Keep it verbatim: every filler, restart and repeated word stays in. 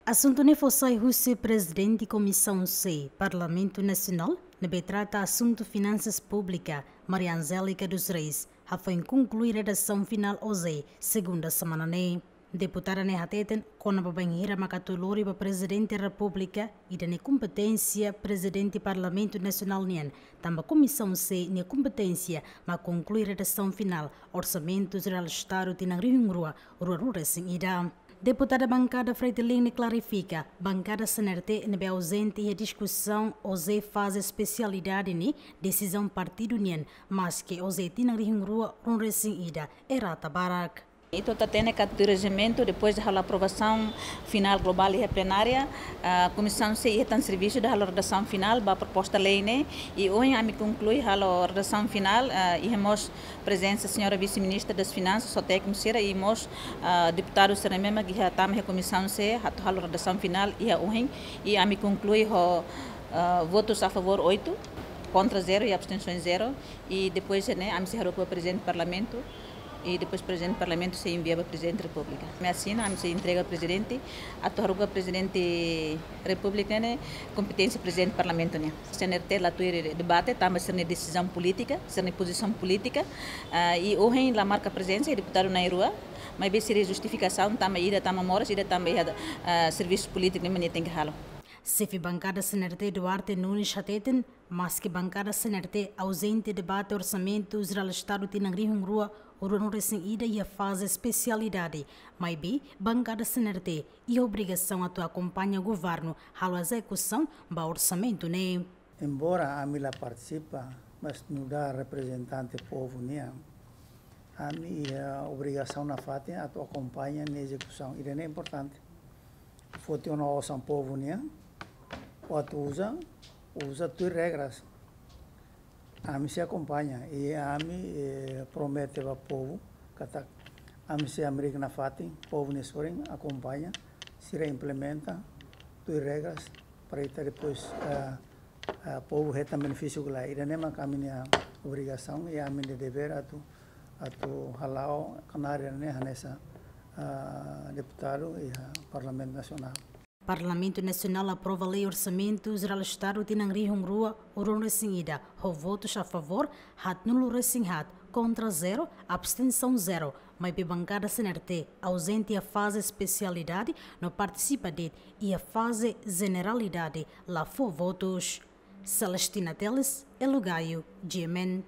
Asuntu ne'e fó sai husi Prezidente Komisaun C, Parlamentu Nasionál, ne'ebé trata asuntu finansas públika, Maria Angélica dos Reis, hafoin konklui redasaun finál ohin, segunda semana ne'e. Deputada ne'e hateten, kona-ba bainhira mak atu lori ba Prezidente Repúblika, ida-ne'e kompeténsia Prezidente Parlamentu Nasionál nian, tanba Komisaun C nia kompeténsia mak konklui redasaun finál Orsamentu Jerál Estadu tinan rihun rua, rua rua resin ida. Deputada bankada Fretilin ne'e klarifika, bankada C N R T ne'ebé auzente iha diskusaun ohin faze espesialidade ne'e desizaun partidu nian, maske ohin tinan rihun rua, rua resin ida, errata barak. Ita hatene katak rejimentu, depois de halo aprovasaun finál globál iha plenária, ah, Komisaun C iha tan servisu de halo redasaun finál ba proposta lei ne'e, i ohin ami konklui halo redasaun finál, ah, iha mós prezensa señora Vise-Ministra das Finansas, ho tékniku sira, i mós, ah, deputadu sira ne'ebé mak iha tama iha Komisaun C, atu halo redasaun finál iha ohin, i ami konklui ho, ah, votus a favór oitu, kontra zero i abstensaun zero, i depois ne'e ami sei haruka ba Prezidente Parlamentu, i depois Prezidente Parlamentu sei envia ba Prezidente Repúblika. Ami asina, ami sei entrega Prezidente, atu haruka Prezidente Repúblika ne'e kompeténsia Prezidente Parlamentu nian. C N R T la tuir debate, tanba sira-nia desizaun polítika, sira-nia pozisaun polítika, ah, i ohin la marka prezensa deputadu na'in-rua, maibé sira-nia justifikasaun tanba ida tanba moras, ida tanba iha, ah, servisu polítiku ne'ebé nia tenke halo. Xefe bankada C N R T Duarte Nunes hateten, maske bankada C N R T auzente debate Orsamentu Jerál Estadu tinan rihun rua, rua rua resin ida iha faze espesialidade, maibé bankada C N R T iha obrigasaun atu akompaña governu halo ezekusaun ba orsamentu ne'e. Embora ami la partisipa, mas nu'udar reprezentante povu nian, ami iha obrigasaun nafatin atu akompaña nia ezekusaun. Ida-ne'e importante. Foti ona osan povu nian, atu uza, uza tuir regras. Ami sei akompaña, i ami, eh, promete ba povu katak ami sei hamriik nafatin, povu nia sorin akompaña, sira implementa tuir regras, para ita depois, eh, eh, povu hetan benefísiu kala. Ida-ne'e mak ami-nia obrigasaun i ami-nia devér atu, atu hala'o knaar ida-ne'e hanesan, eh, deputadu iha Parlamentu Nasionál. Parlamentu Nasionál aprova Lei Orsamentu Jerál Estadu tinan rihun rua, rua rua resin ida, ho votus a favór haatnulu resin haat, kontra zero, abstensaun zero, maibé bankada C N R T auzente iha faze espesialidade, no partisipa de'it iha faze jeneralidade, la fó votus. Celestina Teles, Elo Gaio, G M N.